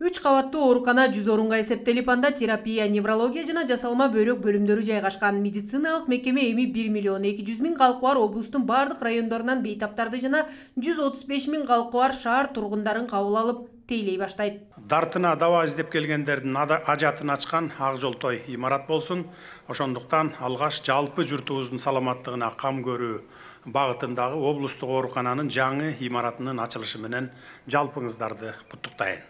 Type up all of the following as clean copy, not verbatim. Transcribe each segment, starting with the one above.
3 кабаттуу оорукана 100 орунга эсептелип, анда терапия, неврология жана жасалма бөйрөк бөлүмдөрү жайгашкан. Медициналык мекеме эми 1 миллион 200 миң калкы бар облустун бардык райондорунан бейтаптарды жана 135 миң калкы бар шаар тургундарын кабыл алып, тейлей баштайт. Дартына дава издеп келгендердин ажатын ачкан ак жолтой имарат болсун. Ошондуктан алгаш жалпы журтубуздун саламаттыгына кам көрүү багытындагы облустук оорукананын жаңы имаратынын ачылышы менен жалпыңыздарды куттуктайын.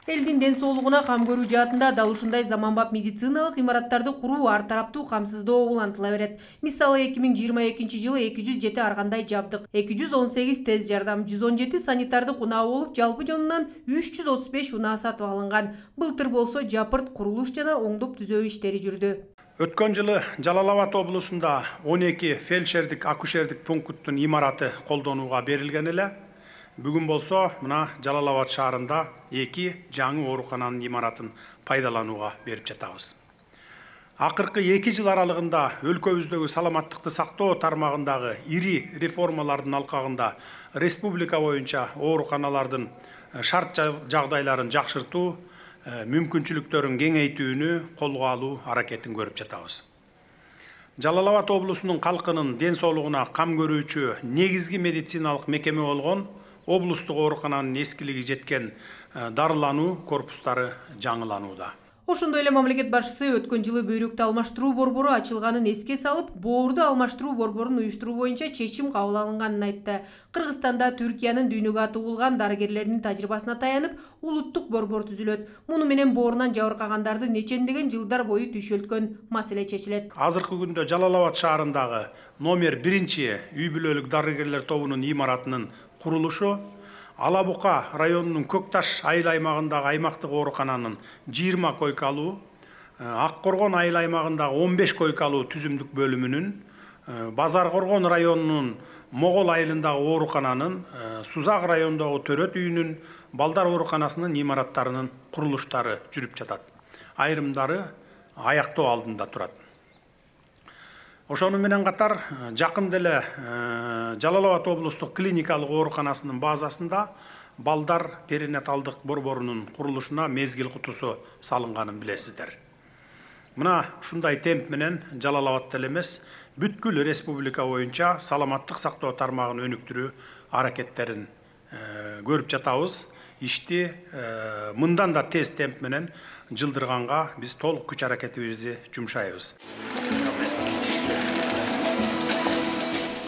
Элдин ден соолугуна кам көрүү жаатында дал ушундай заманбап медициналык имараттарды куруу ар тараптуу камсыздоо улантыла берет. Мисалы 2022 жылы 207 ар кандай жабдык, 218 тез жардам, 117 санитардык унаа болуп, жалпы жонунан 335 унаа сатып алынган. Былтыр болсо жапырт, курулуш жана оңдоп түзөө иштери жүрдү. Өткөн жылы Жалал Абад облусунда 12 фельдшердик акушердик пункттун имараты колдонууга берилген эле. Бүгүн болсо мына Жалал Абад шаарында 2 жаңы оорукананын имаратын пайдаланууга берип жатабыз. Акыркы 2 жыл аралыгында өлкөбүздөгү саламаттыкты сактоо тармагындагы ири реформалардын алкагында республика боюнча ооруканалардын шарт жагдайларын жакшыртуу, мүмкүнчүлүктөрүн кеңейтүүнү колго алуу аракетин көрүп жатабыз. Жалал Абад облусунун калкынын ден соолугуна кам көрүүчү негизги медициналык мекеме болгон облустук оорукананын эскилиги жеткен дарылануу корпустары жаңыланууда. Ошондой эле мамлекет башчысы өткөн жылы бөйрөктү алмаштыруу борбору ачылганын эске салып, боорду алмаштыруу борборун уюштуруу боюнча чечим кабыл алынганын айтты. Кыргызстанда Түркиянын дүйнөгө аты болгон дарыгерлердин тажрыйбасына таянып, улуттук борбор түзүлөт. Муну менен боорунан жабыркагандарды нечендеген жылдар бою түйшөлткөн маселе чечилет. Азыркы күндө Жалал Абад шаарындагы номер 1 үй бүлөлүк дарыгерлер тобунун имаратынын курулушу, Ала Бука районунун Көкташ айыл аймагындагы аймактык оорукананын 20 койкалуу, Ак Коргон айыл аймагындагы 15 койкалуу түзүмдүк бөлүмүнүн, Базар Коргон районунун Могол айылындагы оорукананын, Сузак районундагы Төрөт үйүнүн, Балдар ооруканасынын имараттарынын курулуштары жүрүп жатат. Айрымдары аяктоо алдында турат. Ошону менен катар жакында эле Жалал Абад облустук клиникалык ооруканасынын базасында балдар перинаталдык борборунун курулушуна мезгил кутусу салынганын билесиздер. Мына ушундай темп менен Жалал Абадта эле эмес, бүткүл республика боюнча саламаттык сактоо тармагын өнүктүрүү аракеттерин көрүп жатабыз. Ишти мындан да тез темп менен жылдырганга биз толук күч аракетибизди жумшайбыз.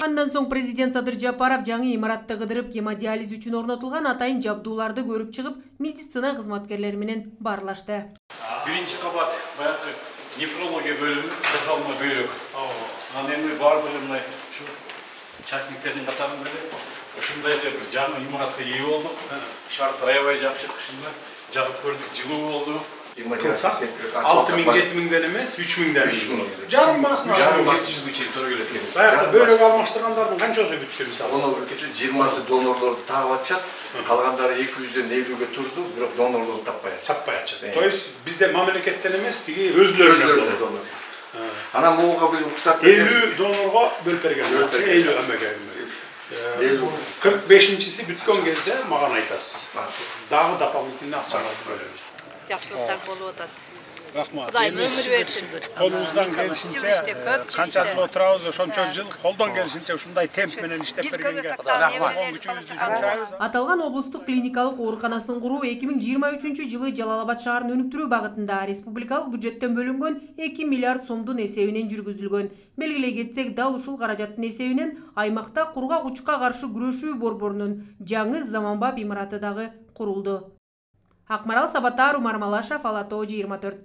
Андан соң президент Садыр Жапаров жаңы имаратты кыдырып, гемодиализ үчүн орнотулган атайын жабдууларды көрүп чыгып, медицина кызматкерлери менен баарлашты. Биринчи кабат баягы нефрология бөлүмү, жасалма бөйрөк. Анан эми баардыгы мына ушу частниктердин катарында эле ушундай эле бир жаңы имаратка ээ болдук. Шарт аябай жакшы, кышында жагып көрдүк, жылуу болду. 6-7 миңден эмес, 3 миңден. Жарым басына. Баягы бөйрөк алмаштыргандардын канчасы бүттү мисалы? Донор бүткүтү 20 донорлорду таап атышат. Калгандары 200дөн 50ге турду, бирок донорлорду таппай атышат. То есть бизде мамлекеттен эмес, тиги өзлөрүнөн донор. Анан буга биз уруксат 50 донорго бөлүп берген. 50 эмеге. 45-чиси бүткөн кезде мага айтасыз. Дагы дополнительный акчаларды бөлөбүз. Жакшылыктар болуп атат. Рахмат. Кудайым өмүр берсин. Колубуздан келишинче канча жыл отурабыз, ошончо жыл колдон келишинче ушундай темп менен иштеп бергенге рахмат. Аталган облустук клиникалык ооруканасын куруу 2023 жылы Жалал Абад шаарын өнүктүрүү багытында республикалык бюджеттен бөлүнгөн 2 миллиард сомдун эсебинен жүргүзүлгөн. Белгилей кетсек, дал ушул каражаттын эсебинен аймакта кургак учукка каршы күрөшүү борборунун жаңы заманбап имараты дагы курулду. Акмарал Сабатар, Умар Малашев, Ала Тоо 24.